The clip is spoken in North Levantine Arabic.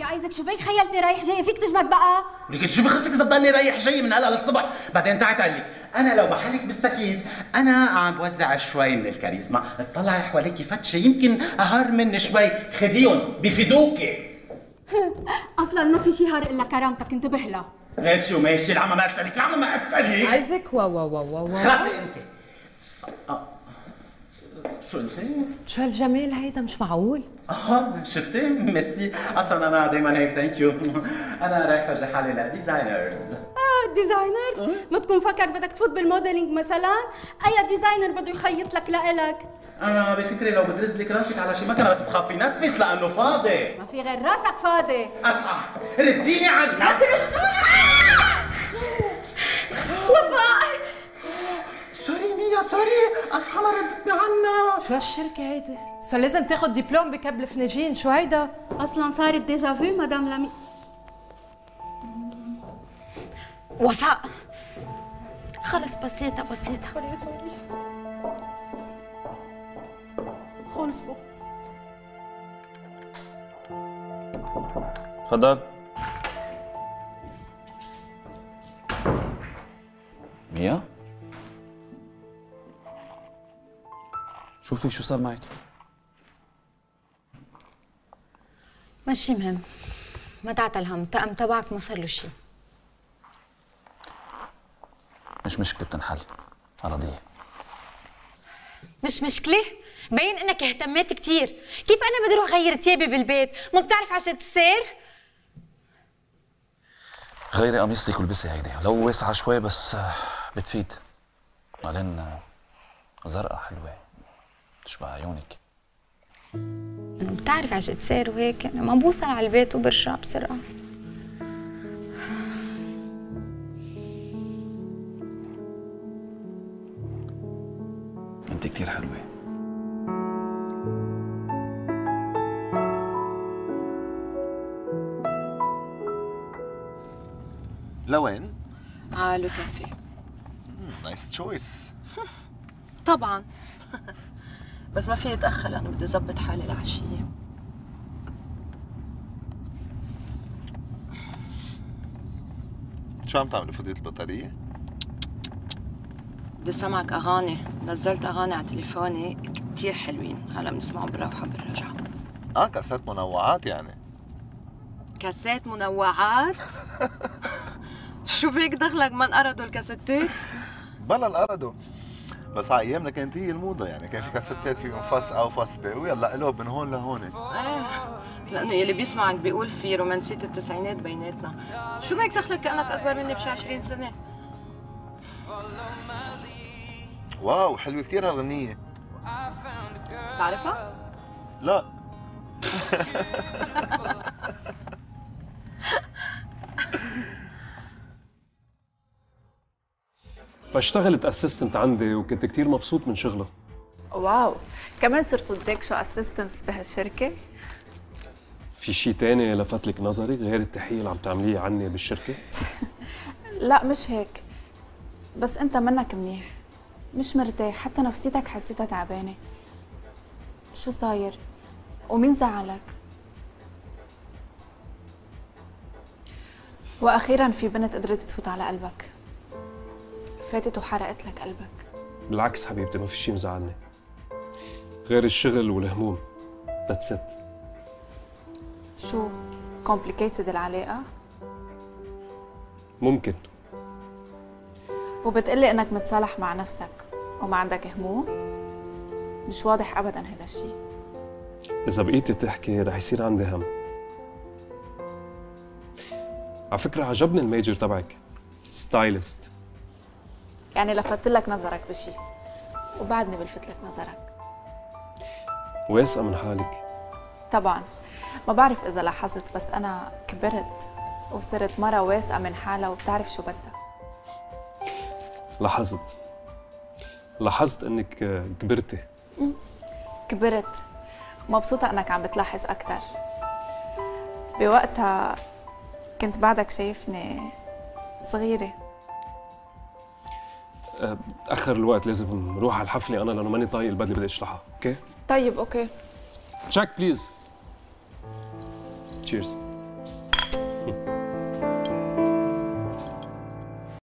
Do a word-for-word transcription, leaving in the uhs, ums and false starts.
يا ايزك شو بيك خيلتني رايح جاي؟ فيك تجمد بقى؟ لكن شو بخصك اذا بضلني رايح جاي من هلا للصبح؟ بعدين تعي تعلي، انا لو محلك بستفيد، انا عم بوزع شوي من الكاريزما، اطلعي حواليكي فتشه يمكن اهار مني شوي، خديهم بفيدوكي. اصلا ما في شي هار الا كرامتك، انتبه لها. ماشي وماشي، العمى ما اسالك، العمى ما اسالك. ايزك واو واو واو واو خلصي انت. آه. شو انت؟ شو هالجمال هيدا، مش معقول. اه شفتي؟ ميرسي، اصلا انا دائما هيك، ثانك يو. انا رايح افرجي حالي للديزاينرز. اه ديزاينرز؟ ما تكون فكر بدك تفوت بالموديلينج مثلا؟ اي ديزاينر بده يخيط لك لإلك؟ انا بفكري لو بدرز لك راسك على شي مكنه، بس بخاف ينفس لانه فاضي. ما في غير راسك فاضي. اسمع، رديني عنك. وفاء سوري ميا سوري، افحمة ردتني عنها. شو هالشركة هيدي؟ صار لازم تاخد دبلوم بكب الفناجين، شو هيدا؟ اصلا صارت ديجا فو مدام لمي. وفاء خلص بسيطة بسيطة. سوري سوري خلصوا. تفضل. ميا؟ شوفي شو صار معك؟ ماشي مهم، ما تعتل هم، الطقم تبعك ما صار له شيء. مش مشكلة، بتنحل. راضية؟ مش مشكلة؟ بين انك اهتميت كثير، كيف انا بدي اروح اغير ثيابي بالبيت؟ ما بتعرف عشان السير؟ غيري قميصتك والبسي هيدي، لو واسعة شوي بس بتفيد. بعدين زرقاء حلوة تشبه عيونك. بتعرف عشان السير وهيك يعني ما بوصل على البيت وبرجع بسرعة. انت كتير حلوة. لوين؟ على لو كافيه. نايس تشويس. طبعا. بس ما فيني اتاخر لانه بدي اظبط حالي العشيه. شو عم تعملي، فضيت البطارية؟ بدي سمعك اغاني، نزلت اغاني على تليفوني كثير حلوين، هلا بنسمعهم بالروحه بالرجعه. اه كاسات منوعات يعني. كاسات منوعات؟ شو فيك دخلك ما انقرضوا الكاسيتات؟ بلا انقرضوا، بس على ايامنا كانت هي الموضه، يعني كان في كاسيتات فيهم فص او فص بي، ويلا قلوب من هون لهون. ايه لانه يلي بيسمعك بيقول في رومانسيه التسعينات بيناتنا، شو بيك دخلك كانك اكبر مني بشي عشرين سنه؟ واو حلوه كثير هالغنيه. بتعرفها؟ لا. فاشتغلت اسيستنت عندي وكنت كثير مبسوط من شغلها. واو، كمان صرتوا تدكشوا اسيستنتس بهالشركة؟ في شيء تاني لفت لك نظري غير التحية اللي عم تعمليه عني بالشركة؟ لا مش هيك، بس انت منك منيح، مش مرتاح، حتى نفسيتك حسيتها تعبانة. شو صاير؟ ومين زعلك؟ واخيرا في بنت قدرت تفوت على قلبك، فاتت وحرقت لك قلبك. بالعكس حبيبتي، ما في شيء مزعلني غير الشغل والهموم. ذاتس ات. شو complicated العلاقة؟ ممكن. وبتقلي انك متصالح مع نفسك وما عندك هموم؟ مش واضح ابدا هذا الشيء. اذا بقيتي تحكي رح يصير عندي هم. على فكرة عجبني الميجر تبعك، ستايلست. يعني لفت لك نظرك بشيء وبعدني بلفت لك نظرك. واثقة من حالك؟ طبعا، ما بعرف اذا لاحظت بس انا كبرت وصرت مرة واثقة من حالها وبتعرف شو بدها. لاحظت لاحظت انك كبرتي. كبرت، مبسوطة انك عم بتلاحظ اكثر. بوقتها كنت بعدك شايفني صغيرة. اخر الوقت لازم نروح على الحفلة انا لانه ماني طايق البدلة بدي اشرحها، اوكي؟ طيب اوكي. تشيك بليز. تشيرز. هم.